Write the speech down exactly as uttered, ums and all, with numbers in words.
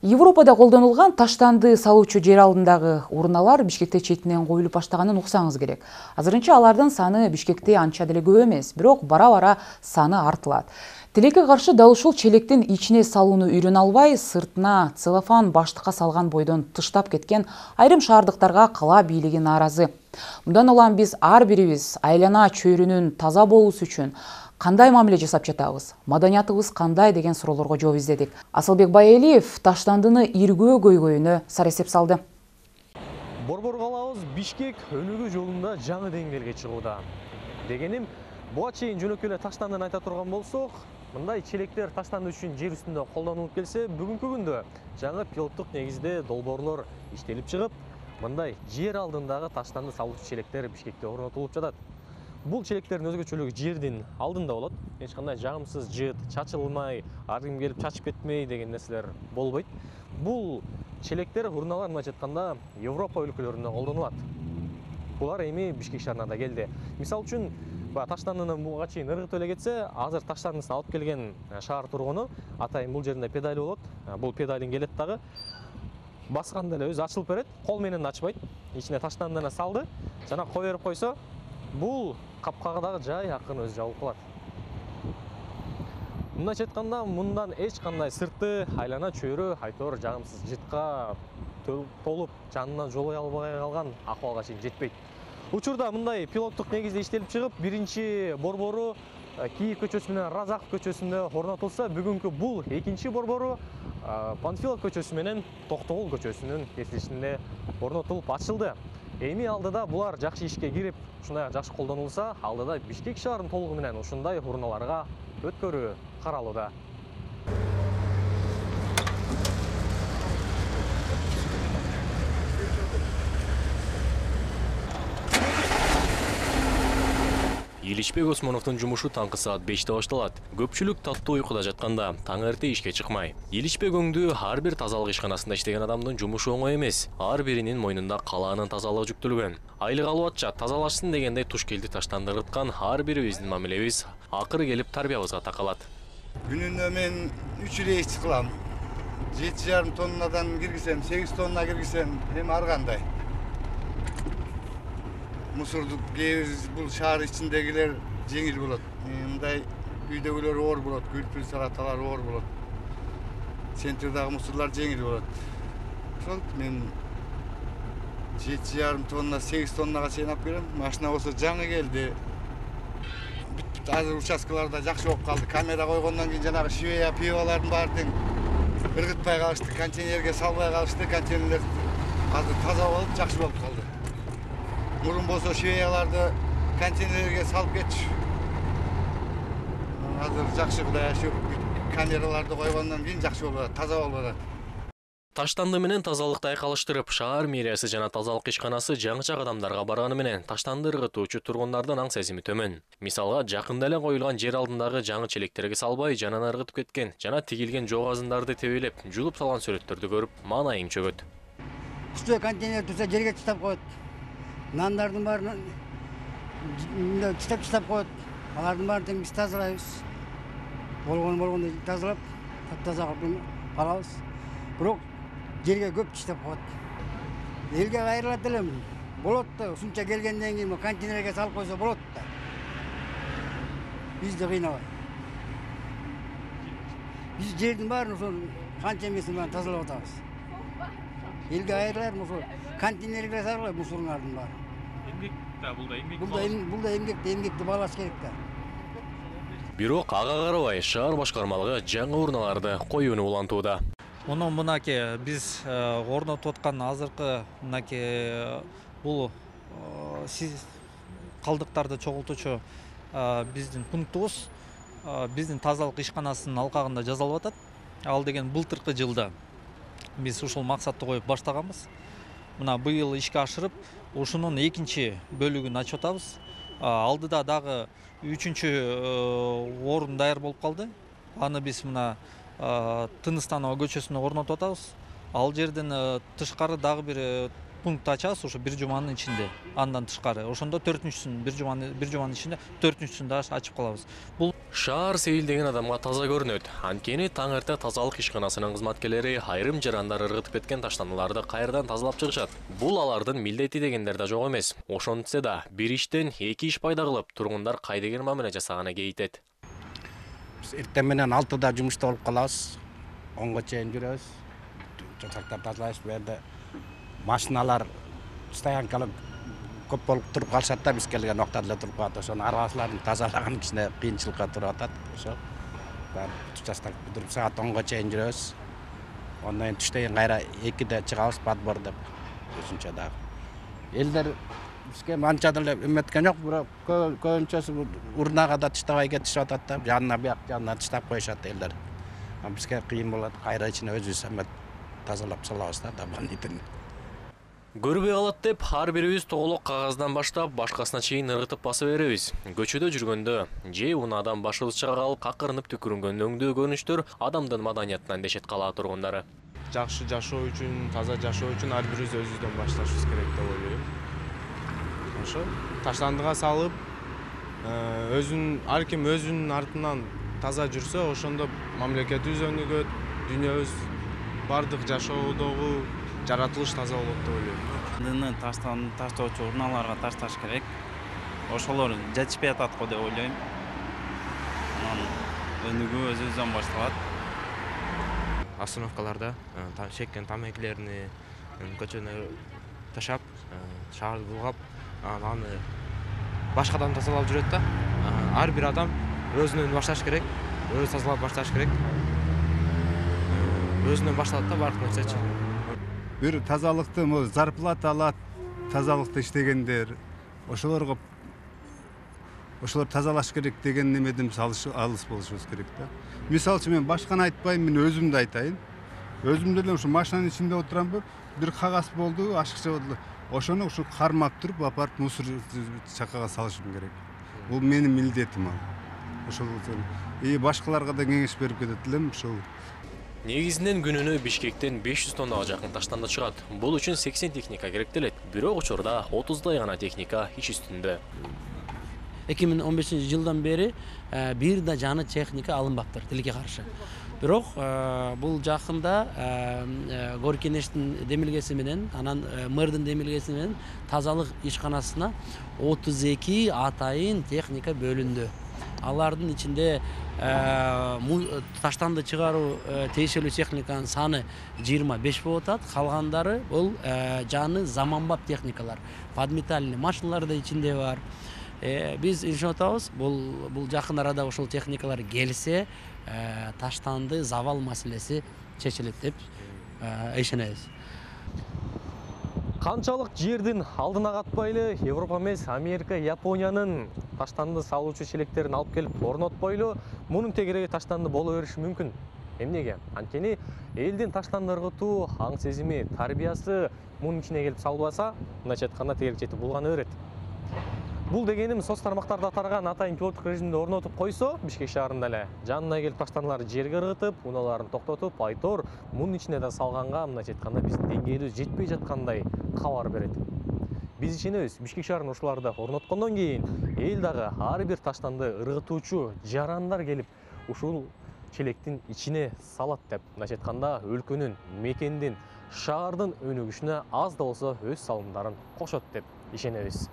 Европада колдонулган таштанды салуучу жер алдындагы урналар Бишкекте четинен коюлуп баштаганын уксаңыз керек. Азырынча алардын саны Бишкекте анча деле көп эмес, бирок бара-бара саны артылат. Тилекке каршы дал ушул челектин ичине салууну үйрөнө албай, сыртына целлофан баштыкка салган бойдон тыштап кеткен айрым шаардыктарга кала бийлиги нааразы. Мындан улам биз ар бирибиз айлана чөйрүнүн таза болуусу үчүн кандай мамиле жасап жатабыз, маданиятыбыз кандай деген суроолорго жооп издедик. Асылбек Байэлиев таштандыны иргөө көйгөйүнө сарэсеп салды. Борбор калабыз Бишкек өнүгүү жолунда жаңы деңгээлге чыгууда. Дегеним, буга чейин жөнөкөй эле таштандыны айта турган болсок, мындай челектер таштанды үчүн жер үстүндө колдонулуп келсе, бүгүнкү күндө жаңы пилоттук негизде долбоорлор иштелип чыгып, мындай жер алдындагы таштанды салуучу челектер Бишкекте орнотулуп жатат. Бул челектердин өзгөчөлүгү жердин алдында болот. Эч кандай жагымсыз жыт, чачылмай, ар ким келип чачып кетмей деген нерселер болбойт. Бул челектер урналар мындайча айтканда Европа өлкөлөрүндө колдонулат. Булар эми Бишкек шаарына да келди. Мисалы үчүн, таштандыны буга чейин ыргытып эле кетсе, азыр таштандысын алып келген шаар тургуну атайын бул жеринде педали болот. Бул педалин келет дагы басканда эле өзү ачылып берет, кол менен ачпайт. Ичине таштандыны салды, жана кое берип койсо, бул капкага дагы жай акын өзү жабылып калат. Мындайча айтканда, мындан эч кандай сырты айлана чөйрө айтор жагымсыз жытка толуп жанынан жолой албай калган акыбалга чейин жетпейт. Учурда мындай пилоттук негизде иштелип чыгып, биринчи борбору Кийик көчөсү менен Разаков көчөсүндө орнотулса, бүгүнкү бул экинчи борбору Панфилов көчөсү менен Токтогул көчөсүнүн кесилишинде орнотулуп ачылды. Эми алдыда булар жакшы ишке кирип, ушундай жакшы колдонулса, алдыда Бишкек шаарынын толугу менен ушундай урналарга өткөрүү каралууда. Иличбек Осмоновдун жумушу таңкы саат беште башталат. Көпчүлүк таттуу уйкуда жатканда, таң эрте ишке чыкмай. Иличбек өңдүү ар бир тазалык ишканасында иштеген адамдын жумушу оңой эмес. Ар биринин мойнунда калаанын тазалыгы жүктөлгөн. Айлык албатча тазалашсын дегендей туш келди таштанды ыргыткан ар бирибиздин мамилебиз акыры келип тарбиябызга такалат. Күнүнө мен үч рейс кылам. жети жарым тоннадан киргизсем, сегиз тонна киргизсем, эми ар кандай. Мусорду бул шаар ичиндегилер жеңил болот. Мындай үйдөгүлөр оор болот, күлпүл салаталар оор болот. Центрдагы мусорлар жеңил болот. Ошол мен жети жарым тонна, сегиз тоннага чейин алып келем. Машина болсо жаңы келди. Азыр участкаларда жакшы болуп калды. Камера койгондон кийин жанагы швея пивалардын баары тең ыргытпай калышты, контейнерге салбай калышты. Контейнерлер азыр таза болуп, жакшы болуп калды. Мурун болсо швеяларды контейнерге салып кетчү. Азыр жакшы Кудай ашык камераларды койгондон кийин жакшы болуп атат, таза болуп атат. Таштанды менен тазалыкты айкалыштырып, шаар мэриясы жана тазалык ишканасы жаңыча кадамдарга барганы менен таштанды ыргытуучу тургундардын аң сезими төмөн. Мисалга, жакында эле коюлган жер алдындагы жаңы челектерге салбай, жанынан ыргытып кеткен жана тигилген жоогазындарды тебелеп, жулуп салган сүрөттөрдү көрүп, маанайың чөгөт. Үстө контейнер турса жерге таштап коет. Нандардын баарын чистап-чистап коет. Алардын баарын тең биз тазалайбыз. Болгон болгондой тазалап, таптаза кылып калабыз. Бирок жерге көп чистап коет. Элге кайрылат элем. Болот да, ушунча келгенден кийин контейнерге салып койсо болот да. Бизди кыйнабай. Биз жердин баарын ошол канча эмесин баарын тазалап атабыз. Элге кайрылар ошол контейнерге салгыла мусорлордун баары. Эмгек да, бул да эмгек. Бул да бул да эмгек, эмгекти баалаш керек да. Бирок ага карабай шаар башкармалыгы жаңы урналарды коюуну улантууда. Мунун мынакей биз орнотуп аткан азыркы мынакей бул калдыктарды чогултуучу биздин пунктубуз биздин тазалык ишканасынын алкагында жасалып атат. Ал деген былтыркы жылда биз ушул максатты коюп баштаганбыз. Мына быйыл ишке ашырып, ушунун экинчи бөлүгүн ачып атабыз. Алдыда дагы үчүнчү орун даяр болуп калды. Аны биз мына Тыныстанова көчөсүнө орнотуп атабыз. Ал жерден тышкары дагы бир пункт ачабыз ошо бир жуманын ичинде, андан тышкары. Ошондо төртүнчүсүн бир жуманы бир жуманын ичинде төртүнчүсүн да ачып калабыз. Бул Шаар сейилдеген адамга таза көрүнөт. Анткени таң эрте тазалык ишканасынын кызматкерлери айрым жарандар ыргытып кеткен таштандыларды кайрадан тазалап чыгышат. Бул алардын милдети дегендер да жок эмес. Ошентсе да бир иштен эки иш пайда кылып, тургундар кайдеген мамиле жасаганы кейтет. Биз эртең менен алтыда жумушта болуп калабыз. онго чейин жүрөбүз. Чочактар тазалайбыз. Бу жерде машиналар стоянкалар көп болуп туруп калышат да, биз келген убакта деле туруп калат. Ошону арбаларын тазалаган кичине кыйынчылыкка туруп атат. Ошо баары участок бүтүрүп саат онго чейин жүрөбүз. Ондан кийин түштөн кайра экиде чыгабыз подбор деп. Үчүнчү дагы. Элдер бизге анча деле эметкен жок, бирок көбүнчөсү урнага да таштабай кетишип атат да, жанына бияк жанына таштап коюшат элдер. Бизге кыйын болот, кайра ичине өзүбүз эме тазалап салабыз да, дополнительно. Көрбөй калат деп ар бирибиз тоголок кагаздан баштап башкасына чейин ыргытып басып беребиз. Көчөдө жүргөндө же унаадан башыбыз чыга калып какырынып түкүрүнгөн өңдөө көрүнүштөр адамдын маданиятынан дешет кала тургундары. Жакшы жашоо үчүн, таза жашоо үчүн ар бирибиз өзүбүздөн башташыбыз керек деп ойлойм. Ошо таштандыга салып, өзүн ар ким өзүнүн артынан таза жүрсө, ошондо мамлекетибиз өнүгөт, дүйнөбүз бардык жашоодогу жаратылыш таза болот деп ойлойм. Таштан таштоочу урналарга ташташ керек. Ошолор жетишпей атат го деп ойлойм. Анан өнүгүү өзүбүздөн башталат. Остановкаларда чеккен тамекилерини көчөнө ташап, шаарды булгап, аны башкадан тазалап жүрөт да. Ар бир адам өзүнөн башташ керек, өзү тазалап башташ керек. Өзүнөн башталат да бардык нерсечи. Бир тазалыкты зарплата алат, тазалыкты иштегендер, ошолорго ошолор тазалаш керек деген немеден алыс болушубуз керек да. Мисалы үчүн мен башканы айтпайм, мен өзүмдү айтайын. Өзүм деле ушу машинанын ичинде отурамбы, бир кагаз болду, ашыкча болду. Ошону ушу кармап туруп, апарып мусор чакага салышым керек. Бул менин милдетим ал. Ошол и башкаларга да кеңеш берип кетет элем ушул. Негизинен күнүнө Бишкектен беш жүз тоннага жакын таштанды чыгат. Бул үчүн сексен техника керектелет. Бирок учурда отуздай гана техника иш үстүндө. эки миң он бешинчи жылдан бери бир да жаңы техника алынбаптыр тилекке каршы. Бирок бул жакында Горкенештин демилгеси менен, анан мэрдин демилгеси менен тазалык ишканасына отуз эки атайын техника бөлүндү. Алардын ичинде таштанды чыгаруу тиешелүү техниканын саны жыйырма беш болуп атат. Калгандары бул жаңы заманбап техникалар. Подметальный машиналар да ичинде бар. Биз ишенип атабыз, бул бул жакын арада ошол техникалар келсе, таштанды завал маселеси чечилет деп ишенебиз. Канчалык жердин алдына катпайлы, Европа эмес, Америка, Япониянын таштанды салуучу челектерин алып келип орнотпойлу, мунун тегереги таштанды боло бериши мүмкүн. Эмнеге? Анткени элдин таштанды ыргытуу, аң сезими, тарбиясы мунун ичине келип салбаса, мындайча айтканда тегерек жетип булгана берет. Бул дегеним соц тармактарда тараган атайын пилоттук режимде орнотуп койсо, Бишкек шаарында эле жанына келип таштандыларды жерге ыргытып, унааларын токтотуп, айтор мунун ичине да салганга, мындайча айтканда биздин деңгээлибиз жетпей жаткандай кабар берет. Биз ишенебиз, Бишкек шаарынын ушуларды орноткондон кийин эл дагы ар бир таштанды ыргытуучу жарандар келип ушул челектин ичине салат деп, мындайча айтканда өлкөнүн, мекендин, шаардын өнүгүшүнө аз да болсо өз салымдарын кошот деп ишенебиз.